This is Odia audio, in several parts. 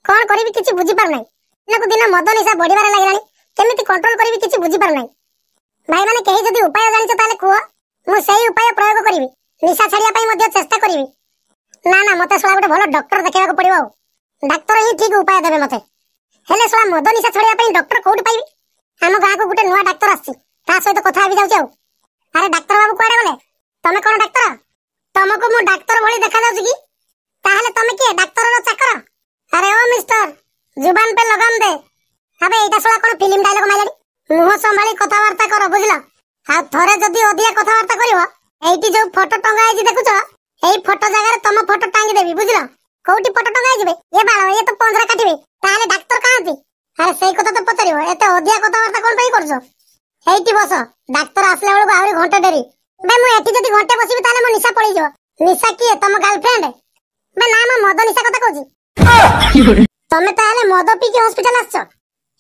କଣ କରିବି କିଛି ବୁଝିପାରୁନାହିଁ। ଦିନକୁ ଦିନ ମଦ ନିଶା ବଢିବାରେ ଲାଗିଲାଣି, କେମିତି କଣ୍ଟ୍ରୋଲ କରିବି କିଛି ବୁଝିପାରୁନାହିଁ। ଭାଇମାନେ, କେହି ଯଦି ଉପାୟ ଜାଣିଛ ତାହେଲେ କୁହ, ମୁଁ ସେଇ ଉପାୟ ପ୍ରୟୋଗ କରିବି। ନିଶା ଛାଡ଼ିବା ପାଇଁ ମଧ୍ୟ ଚେଷ୍ଟା କରିବି। ନା ନା, ମତେ ଶଳା ଗୋଟେ ଭଲ ଡକ୍ଟର ଦେଖେଇବାକୁ ପଡିବ, ଆଉ ଡାକ୍ତର ହିଁ ଠିକ ଉପାୟ ଦେବେ ମତେ। ହେଲେ ଶଳା ମଦ ନିଶା ଛାଡ଼ିବା ପାଇଁ ଡକ୍ଟର କୋଉଠି ପାଇବି? ଆମ ଗାଁକୁ ଗୋଟେ ନୂଆ ଡାକ୍ତର ଆସିଛି, ତା ସହିତ କଥା ହେବି ଯାଉଛି। ଆଉ ଆରେ ଡାକ୍ତର ବାବୁ, କୁଆଡେ ଗଲେ? ତମେ କଣ ଡାକ୍ତର? ତମକୁ ମୁଁ ଡାକ୍ତର ଭଳି ଦେଖାଯାଉଛି କି? ତାହେଲେ ତମେ କିଏ, ଡାକ୍ତରର ଚାକର? ଆରେ ଓ ମିଷ୍ଟର, ଜୁବାନ ପେ ଲଗାମ ଦେ। ଆବେ, ଏଇଟା ଶଳା କଣ ଫିଲ୍ମ ଡାଇଲଗ ମାଇଲାଣି? ମୁହଁ ସମ୍ଭାଳି କଥାବାର୍ତ୍ତା କର, ବୁଝିଲ? ଆଉ ଥରେ ଯଦି ଅଧିକା କଥାବାର୍ତ୍ତା କରିବ, ଏଇଠି ଯୋଉ ଫଟୋ ଟଙ୍ଗା ହେଇଛି ଦେଖୁଛ, ଏଇ ଫଟୋ ଜାଗାରେ ତମ ଫଟୋ ଟାଙ୍ଗି ଦେବି, ବୁଝିଲ? କୋଉଠି ଫଟୋ ଟଙ୍ଗା ହେଇଯିବେ? ଏ ବାଳ, ଇଏ ତ ପଞ୍ଜରା କାଟିବେ। ତାହେଲେ ଡାକ୍ତର କାହାନ୍ତି? ଆରେ ସେଇ କଥା ତ ପଚାରିବ, ଏତେ ଅଧିକା କଥାବାର୍ତ୍ତା କଣ ପାଇଁ କରୁଛ? ଏଇଠି ବସ, ଡାକ୍ତର ଆସିଲା ବେଳକୁ ଆହୁରି ଘଣ୍ଟେ ଡେରି। ବେ, ମୁଁ ଏଠି ଯଦି ଘଣ୍ଟେ ବସିବି ତାହେଲେ ମୋ ନିଶା ପଳେଇଯିବ। ନିଶା କିଏ, ତମ ଗାର୍ଲଫ୍ରେଣ୍ଡ? ବେ ନା, ମୁଁ ମଦ ନିଶା କଥା କହୁଛି। ତମେ ତାହେଲେ ମଦ ପିଇକି ହସ୍ପିଟାଲ ଆସିଛ?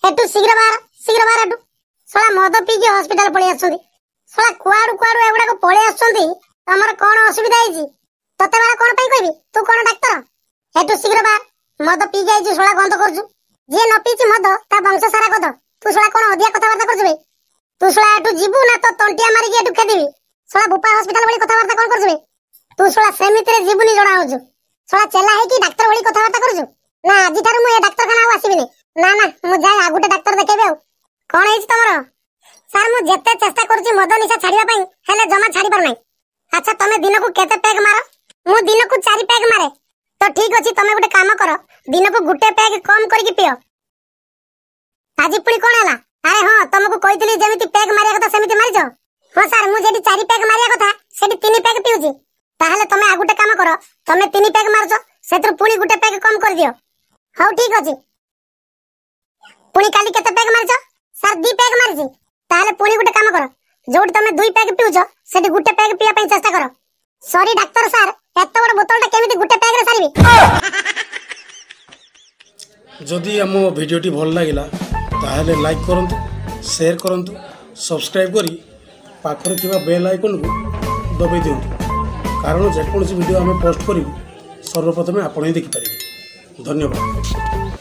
ଏଠୁ ଶୀଘ୍ର ବାହାର, ଶୀଘ୍ର ବାହାର ଏଠୁ। ଶଳା ମଦ ପିଇକି ହସ୍ପିଟାଲ ପଳେଇ ଆସୁଛନ୍ତି। ଶଳା କୁଆଡୁ କୁଆଡୁ ଏଗୁଡାକ ପଳେଇ ଆସୁଛନ୍ତି। ତମର କଣ ଅସୁବିଧା ହେଇଛି? ତତେ ବାଳ କଣ ପାଇଁ କହିବି, ତୁ କଣ ଡାକ୍ତର? ଏଠୁ ଶୀଘ୍ର ବାହାର, ମଦ ପିଇକି ଆଇଛୁ, ଶଳା ଗନ୍ଧ କରୁଛୁ। ଯିଏ ନ ପିଇଛି ମଦ ତା ବଂଶ ସାରା ଗଧ। ତୁ ଶଳା କଣ ଅଧିକା କଥାବାର୍ତ୍ତା କରୁଛୁ ବେ? ତୁ ଶଳା ଏଠୁ ଯିବୁ ନା ତ ତଣ୍ଟିଆ ମାରିକି ଏଠୁ ଖେଦିବି? ଶଳା ବୁପା ହସ୍ପିଟାଲ ଭଳି କଥାବାର୍ତ୍ତା କଣ କରୁଛୁ ବେ? ତୁ ଶଳା ସେମିତିରେ ଯିବୁନି ଜଣା ହଉଛୁ। ଶଳା ଚେଲା ହେଇକି ଡାକ୍ତର ଭଳି କଥାବାର୍ତ୍ତା କରୁଛୁ ନା? ଆଜିଠାରୁ ମୁଁ ଏ ଡାକ୍ତରଖାନା ଆଉ ଆସିବିନି। ନା ନା, ମୁଁ ଯାଏ ଆଉ ଗୋଟେ ଡାକ୍ତର ଦେଖେଇବି। ଆଉ କଣ ହେଇଛି ତମର? ସାର୍, ମୁଁ ଯେତେ ଚେଷ୍ଟା କରୁଛି ମଦ ନିଶା ଛାଡିବା ପାଇଁ, ହେଲେ ଜମା ଛାଡି ପାରୁନାହିଁ। ଆଚ୍ଛା, ତମେ ଦିନକୁ କେତେ ପେଗ ମାର? ମୁଁ ଦିନକୁ 4 ପେଗ ମାରେ। ତ ଠିକ ଅଛି, ତମେ ଗୋଟେ କାମ କର, ଦିନକୁ ଗୋଟେ ପେଗ କମ କରିକି ପିଅ। ଆଜି ପୁଣି କଣ ହେଲା? ଆରେ ହଁ, ତମକୁ କହିଥିଲି ଯେମିତି ପେଗ ମାରିବା କଥା ସେମିତି ମାରିଛ? ହଁ ସାର୍, ମୁଁ ଯେଠି 4 ପେଗ ମାରିବା କଥା ସେଠି 3 ପେଗ ପିଉଛି। ତାହେଲେ ତମେ ଆଉ ଗୋଟେ କାମ କର, ତମେ 3 ପେଗ ମାରୁଛ, ସେଥିରୁ ପୁଣି ଗୋଟେ ପେଗ କମ କରିଦିଅ। ହଉ ଠିକ ଅଛି। ପୁଣି କାଲି କେତେ ପେଗ ମାରିଛ? ସାର୍, 2 ପେଗ ମାରିଛି। ତାହେଲେ ପୁଣି ଗୋଟେ କାମ କର, ଯୋଉଠି ତମେ 2 ପେଗ ପିଉଛ ସେଠି ଗୋଟେ ପେଗ ପିଇବା ପାଇଁ ଚେଷ୍ଟା କର। ସରି ଡାକ୍ତର ସାର୍, ଏତେ ବଡ ବୋତଲଟା କେମିତି ଗୋଟେ ପେଗରେ ସାରିବି? ଯଦି ଆମ ଭିଡ଼ିଓଟି ଭଲ ଲାଗିଲା ତାହେଲେ ଲାଇକ୍ କରନ୍ତୁ, ସେୟାର କରନ୍ତୁ, ସବସ୍କ୍ରାଇବ୍ କରି ପାଖରେ ଥିବା ବେଲ୍ ଆଇକନ୍କୁ ଦବାଇ ଦିଅନ୍ତୁ, କାରଣ ଯେକୌଣସି ଭିଡ଼ିଓ ଆମେ ପୋଷ୍ଟ କରିବୁ ସର୍ବପ୍ରଥମେ ଆପଣ ହିଁ ଦେଖିପାରିବେ। ଧନ୍ୟବାଦ।